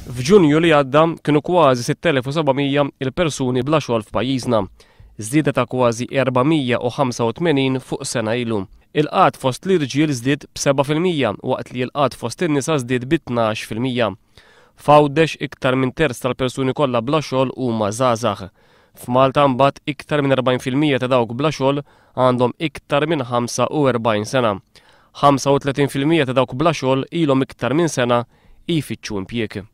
F'Ġunju li għadda kienu kważi 6,700 il-persuni bla xogħol f'pajjiżna, żieda ta' kważi 485 fuq sena ilu. Il-qgħad fost l-irġiel żdied b'7% waqt li l-qgħad fost in-nisa żdied bi 12%. F'Għawdex iktar minn terz tal-persuni kollha bla xogħol huma żgħażagħ. F'Malta mbagħad iktar minn 40% ta' dawk bla xogħol għandhom iktar minn 45 sena. 35% ta' dawk bla xogħol ilhom iktar minn sena jfittxu impjieg.